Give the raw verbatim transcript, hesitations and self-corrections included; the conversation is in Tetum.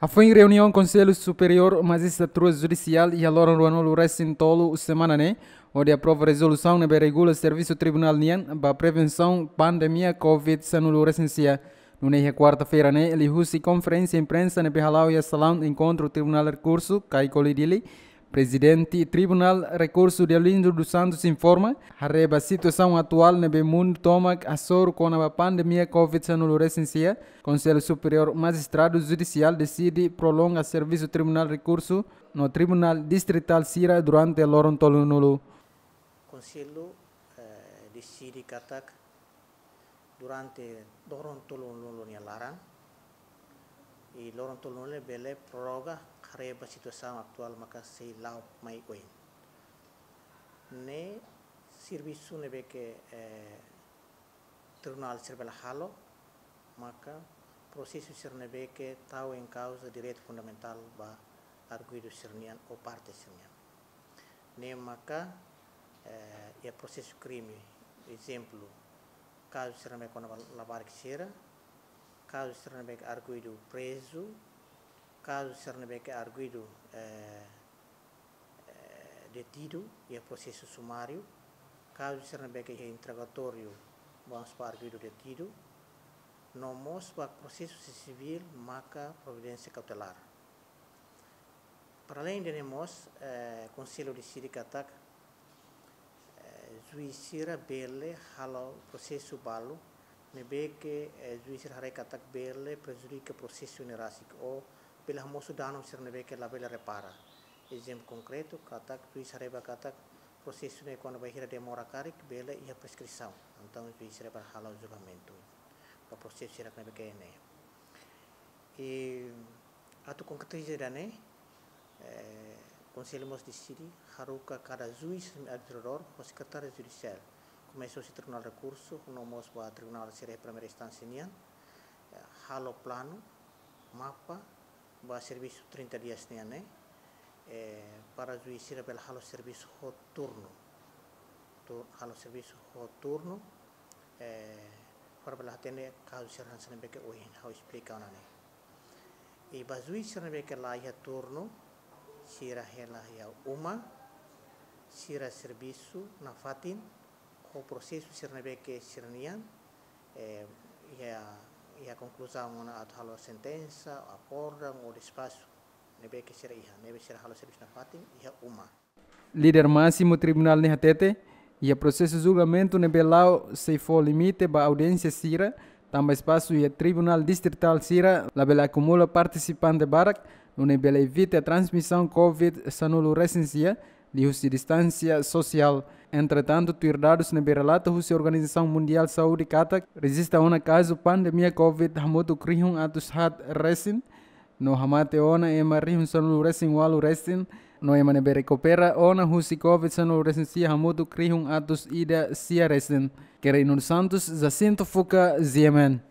Hafoin reuniaun Konsellu Superiór Majistratura Judisiál iha loron ruanulu resin tolu semana ne'e, hodi aprova rezolusaun ne'ebé regula servisu tribunál nian ba prevensaun pandemia covid sanulu resin sia. Nune'e iha kuarta-feira ne'e, liuhusi konferénsia imprensa ne'ebé hala'o iha salaun enkontru Tribunál Rekursu, Caicoli, Dili, Prezidente Tribunál Rekursu Deolindo dos Santos informa, haree ba situasaun atuál ne'ebé mundu tomak hasoru kona-ba pandemia covid sanulu resin sia, Konsellu Superiór Majistradu Judisiál deside prolonga servisu Tribunál Rekursu no Tribunál Distritál sira durante loron tolunulu. Konsellu, eh, deside katak durante loron tolunulu nia laran, i loron tolunulu bele prorroga, haree ba situasaun atuál maka sei la'o mai oin. Ne'e servisu ne'ebé ke, eh, tribunál sira bele halo, maka prosesu sira ne'ebé ke tau en kauza direitu fundamentál ba arguidu sira-nian ou parte sira-nian. Ne'e maka, eh, iha prosesu krime, ezemplu, kazu sira ne'ebé kona-ba labarik sira, kazu sira ne'ebé ke arguidu prezu, kazu sira ne'ebé ke arguidu, eh, eh, detidu iha prosesu sumáriu, kazu sira ne'ebé ke iha interrogatóriu, vamos ba arguidu detidu, no mós ba prosesu sivíl maka providénsia kautelár. Para além de ne'e mós, eh, Konsellu deside katak, eh, juís sira bele halo prosesu balu ne'ebé ke, eh, juís sira haree katak bele prejudika prosesu ne'e rasik ou bele hamosu danu sira ne'ebé ke labele repara. Ezemplu konkretu, katak juís haree ba katak prosesu ne'e kona-ba hira demora karik, bele iha preskrisaun. Entaun juís sira bele halo julgamentu ba prosesu sira ne'ebé ke ne'e. I atu konkretiza ida-ne'e, eh, Konsellu mós deside haruka kada juís administradór ho sekretáriu judisiál, komesa husi Tribunál Rekursu, no mós ba tribunál sira primeira instánsia nian, eh, halo planu, mapa, ba servisu trinta dias nian ne'e, eh, para juís sira bele halo servisu ho turnu. Tur-, halo servisu ho turnu, eh, para bele atende kazu sira hanesan ne'ebé ke ohin ha'u esplika ona ne'e. I ba juís sira ne'ebé ke la iha turnu, sira hela iha uma, sira servisu nafatin, ho prosesu sira ne'ebé ke sira-nian, eh, iha, iha konkluzaun ona atu halo sentensa, akordaun ou despaxu ne'ebé ke sira iha, ne'ebé sira halo servisu nafatin iha uma. Líder másimu tribunál ne'e hatete, iha prosesu julgamentu ne'ebé la'o sei fó limite ba audiénsia sira, tanba espasu iha tribunál distritál sira labele akumula partisipante barak, nune'e bele evita transmisaun covid sanulu resin sia, liuhusi distánsia sosiál. Entretantu, tuir dadus ne'ebé relata husi Organizasaun Mundiál Saúde katak rejista ona kazu pandemia covid hamutuk rihun atus haat resin, no hamate ona ema rihun sanulu resin ualu resin, no ema ne'ebé rekupera ona husi covid sanulu resin sia hamutuk rihun atus ida sia resin. Querino dos Santos, Jacinto Fuca, G M N.